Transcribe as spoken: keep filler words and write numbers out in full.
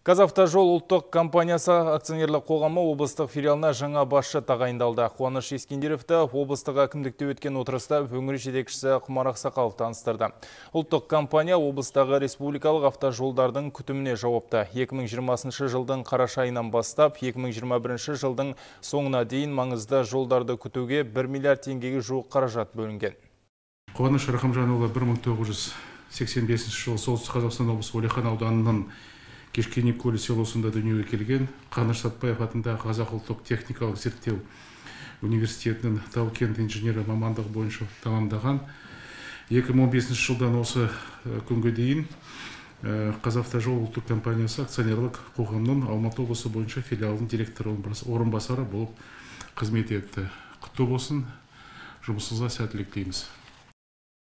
Қазавтожол ұлттық компаниясы акционерлік қоғамы облыстық филиалына жаңа басшы тағайындалды. Қуаныш Ескендеровті облыстық әкімдікте өткен отырыста өңір жетекшісі Құмар Ақсақалов таныстырды. Ұлттық компания облыстағы республикалық автожолдардың күтіміне жауапты. екі мың жиырмасыншы жылдың қараша айынан бастап, екі мың жиырма бірінші жылдың соңына дейін маңызды жолдарды күтуге бір миллиард теңгеге жуық қаражат бөлінген. Қуаныш Рахымжанұлы бір мың тоғыз жүз сексен бесінші жылы Солтүстік Қазақстан облысы Уәлихан ауданының Кешкенекөл селосында дүниеге келген. Қаныш Сәтбаев атындағы Қазақ ұлттық техникалық зерттеу университетінің тау-кен инженері мамандығы бойынша тәмамдаған. екі мың он бесінші жылдан осы күнге дейін Қазавтожол ұлттық компаниясы акционерлік қоғамның Алматы облысы бойынша филиалының директоры орынбасары болып қызмет етті. Құтты болсын, жұмысыңызға сәттілік тілейміз.